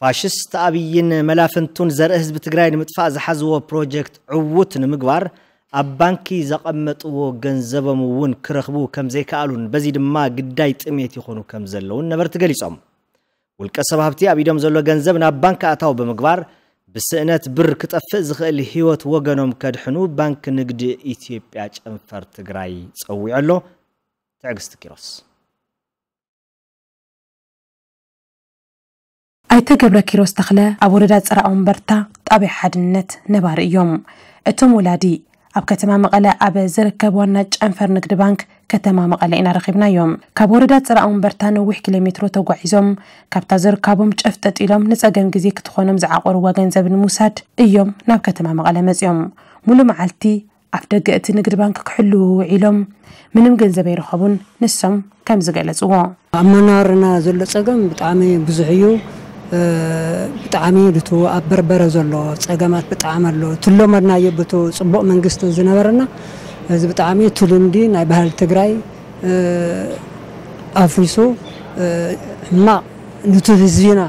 ፋሽስት ኣብይን መላፍንቱን ዘርኢ ህዝቢ ትግራይ ንምጥፋእ ዝሓዝዎ ፕሮጀክት ዕዉት ንምግባር ኣብ ባንኪ ዘቐመጥዎ ገንዘቦም እውን ክረኽቡ ከም ዘይከኣሉን በዚ ድማ ግዳይ ጥሜት ይኾኑ ከም ዘለውን ነበርቲ ገሊጾም። ውልቀ ሰብ ሃብቲ ኣብ ኢዶም ዘሎ ገንዘብ ናብ ባንክ ኣታው ብምግባር ብስእነት ብር ክጠፍእ ዝኽእል ህይወት ወገኖም ከድሕኑ ባንክ ንግዲ ኢትዮጵያ ጨንፈር ትግራይ ጸዊዑ ኣሎ። ትዕግስቲ ኪሮስ። ኣይተ ገብረ ኪሮስ ተኽለ ኣብ ወረዳ ጽራኦም በርታ ጣብያ ሓድነት ነባሪ እዮም። እቶም ወላዲ ኣብ ከተማ መቐለ ኣብ ዝርከብ ዋና ጨንፈር ንግዲ ባንክ ከተማ መቐለ ኢና ረኺብናዮም። ካብ ወረዳ ጽራኦም በርታ ነዊሕ ኪሎ ሜትሮ ተጓዒዞም ካብታ ዘርካቦም ጨፍጠጥ ኢሎም ንጸገም ግዜ ክትኾኖም ዝዓቆርዋ ገንዘብ ንምውሳድ እዮም ናብ ከተማ መቐለ መጺኦም። ሙሉ መዓልቲ ኣፍ ደገ እቲ ንግድ ባንክ ክሕልዉ ውዒሎም ምንም ገንዘብ ኣይረኸቡን። ንሶም ከም ዝገለጽዎ ኣብ መናርና ዘሎ ጸገም ብጣዕሚ ብዙሕ እዩ። ብጣዕሚ ድቱ ኣብ በርበረ ዘሎ ጸገማት ብጣዕሚ ኣሎ። ትለመድናዮ ብቱ ጽቡቕ መንግስቲ ዝነበረና እዚ ብጣዕሚ እቲ ልምዲ ናይ ባህል ትግራይ ኣፍሪሱ ሕማቕ ንቱ ህዝቢና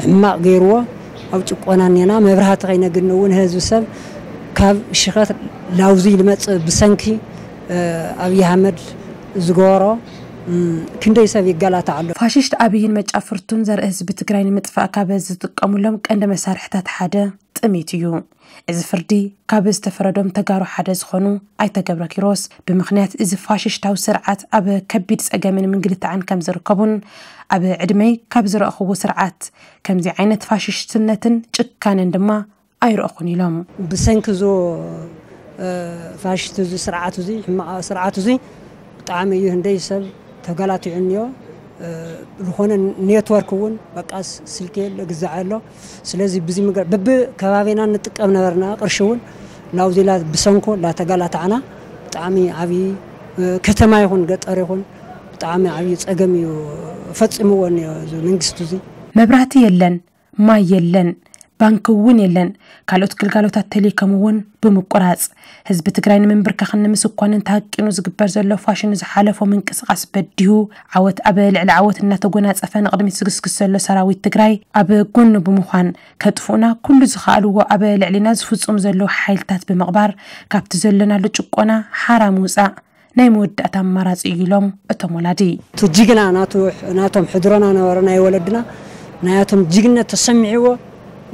ሕማቕ ገይርዎ ኣብ ጭቆና እኔና። መብራህቲ ከይነግኒ እውን ህዝቢ ሰብ ካብ ሽኸት ላውዚ ልመጽእ ብሰንኪ ኣብይ ኣሕመድ ዝገበሮ ክንደይ ሰብ ይገላታዕ ኣሎ። ፋሽስት ኣብይን መጫፍርቱን ዘርኢ ህዝቢ ትግራይ ንምጥፋእ ካብ ዝጥቀሙሎም ቀንዲ መሳርሕታት ሓደ ጥሜት እዩ። እዚ ፍርዲ ካብ ዝተፈረዶም ተጋሩ ሓደ ዝኾኑ ኣይተ ገብረ ኪሮስ ብምኽንያት እዚ ፋሽስታዊ ስርዓት ኣብ ከቢድ ጸገምን ምንግልታዕን ከም ዝርከቡን ኣብ ዕድመይ ካብ ዝረእኽዎ ስርዓት ከምዚ ዓይነት ፋሽስትነትን ጭካነን ድማ ኣይረእኹን ኢሎም። ብሰንኪ ዞ ፋሽስት እዚ ስርዓት እዚ ሕማቕ ስርዓት እዚ ብጣዕሚ እዩ ህንደይ ሰብ ተጋላቲዑ እኒኦ ዝኾነ ኔትወርክ እውን በቃ ስልኪ የለ ግዛዕ ኣሎ። ስለዚ ብዚ ምገር ብብ ከባቢና ንጥቀም ነበርና ቅርሺ እውን ናውዚ ላ ብሰንኮ ላተጋላታዕና ብጣዕሚ ዓብዪ ከተማ ይኹን ገጠር ይኹን ብጣዕሚ ዓብዪ ፀገም እዩ ፈፂምዎ እኒኦ እዚ መንግስቲ እዚ። መብራህቲ የለን ማይ የለን፣ ባንኪ እውን የለን፣ ካልኦት ግልጋሎታት ተልይከም እውን ብምቁራፅ፣ ህዝቢ ትግራይ ንምንብርካኽን ንምስኳንን ተሃቂኑ ዝግበር ዘሎ ፋሽኑ ዝሓለፎ ምንቅስቃስ በዲሁ ዓወት ኣብ ልዕሊ ዓወት እናተጎናፀፈ ንቕድሚት ዝግስግስ ዘሎ ሰራዊት ትግራይ ኣብ ጎኑ ብምዃን ከጥፍኡና ኩሉ ዝኸኣልዎ ኣብ ልዕሊና ዝፍፁም ዘለዉ ሓይልታት ብምቕባር ካብቲ ዘለናሉ ጭቆና ሓራ ምውፃእ ናይ መወዳእታ ኣማራፂ እዩ ኢሎም እቶም ወላዲ። እቲ ጅግና ናቶም ሕድሮና ነበረ ናይ ወለድና ናያቶም ጅግነት ተሰሚዕዎ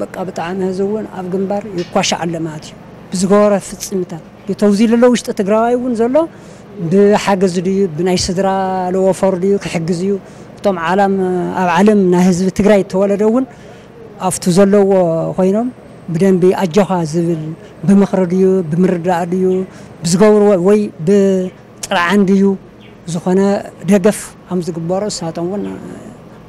በቃ ብጣዕሚ ህዚ እውን ኣብ ግንባር ይኳሻዕ ኣሎ ማለት እዩ ብዝገበሮ ፍፅምታት ተውዚ ለሎ ውሽጢ ትግራዋይ እውን ዘሎ ብሓገዝ ድዩ ብናይ ስድራ ለወፈሩ ድዩ ክሕግዝ እዩ እቶም ዓላም ኣብ ዓለም ናይ ህዝቢ ትግራይ ተወለደ እውን ኣብቲ ዘለዎ ኮይኖም ብደንቢ ኣጆኻ ዝብል ብምኽሪ ድዩ ብምርዳእ ድዩ ብዝገብርዎ ወይ ብጥርዓን ድዩ ዝኾነ ደገፍ ከም ዝግበሮ ንሳቶም እውን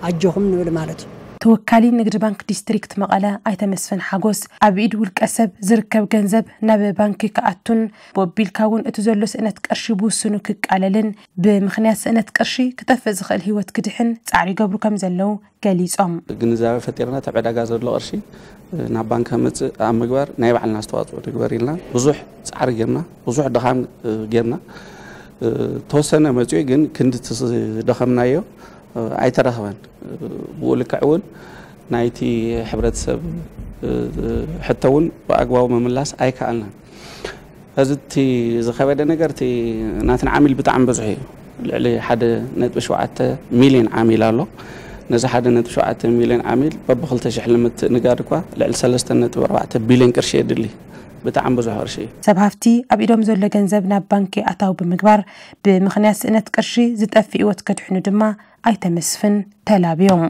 ኣጆኹም ንብል ማለት እዩ። ተወካሊ ንግዲ ባንክ ዲስትሪክት መቐለ ኣይተ መስፍን ሓጎስ ኣብ ኢድ ውልቀ ሰብ ዝርከብ ገንዘብ ናብ ባንኪ ክኣቱን ብወቢልካ እውን እቲ ዘሎ ስእነት ቅርሺ ብውስኑ ክቃለልን ብምኽንያት ስእነት ቅርሺ ክጠፍእ ዝኽእል ህይወት ክድሕን ፃዕሪ ይገብሩ ከም ዘለዉ ገሊፆም። ግንዛበ ፈጢርና እቲ ዕዳጋ ዘሎ ቅርሺ ናብ ባንክ ከምፅእ ኣብ ምግባር ናይ ባዕልና ኣስተዋፅኦ ንግበር ኢልና ብዙሕ ፃዕሪ ጌርና ብዙሕ ድኻም ጌርና ተወሰነ መፅኡ ግን ክንዲ ዝደኸምናዮ ኣይተረኽበን። ብኡ ልክዕ እውን ናይቲ ሕብረተሰብ ሕቶ እውን ብኣግባቡ ምምላስ ኣይከኣልናን። ሕዚ እቲ ዝኸበደ ነገር እቲ ናትና ዓሚል ብጣዕሚ ብዙሕ እዩ። ልዕሊ ሓደ ነጥቢ ሸውዓተ ሚልዮን ዓሚል ኣሎ። ነዚ ሓደ ነጥቢ ሸውዓተ ሚልዮን ዓሚል በብኽልተ ሽሕ ንምትእንጋድ እኳ ልዕሊ ሰለስተ ነጥቢ ኣርባዕተ ቢልዮን ቅርሺ የድሊ። ብጣዕሚ ብዙሕ ቅርሺ እዩ። ሰብ ሃፍቲ ኣብ ኢዶም ዘሎ ገንዘብ ናብ ባንኪ ኣታዊ ብምግባር ብምኽንያት ስእነት ቅርሺ ዝጠፍእ ህይወት ከድሕኑ ድማ ኣይተ መስፍን ተላብዮም።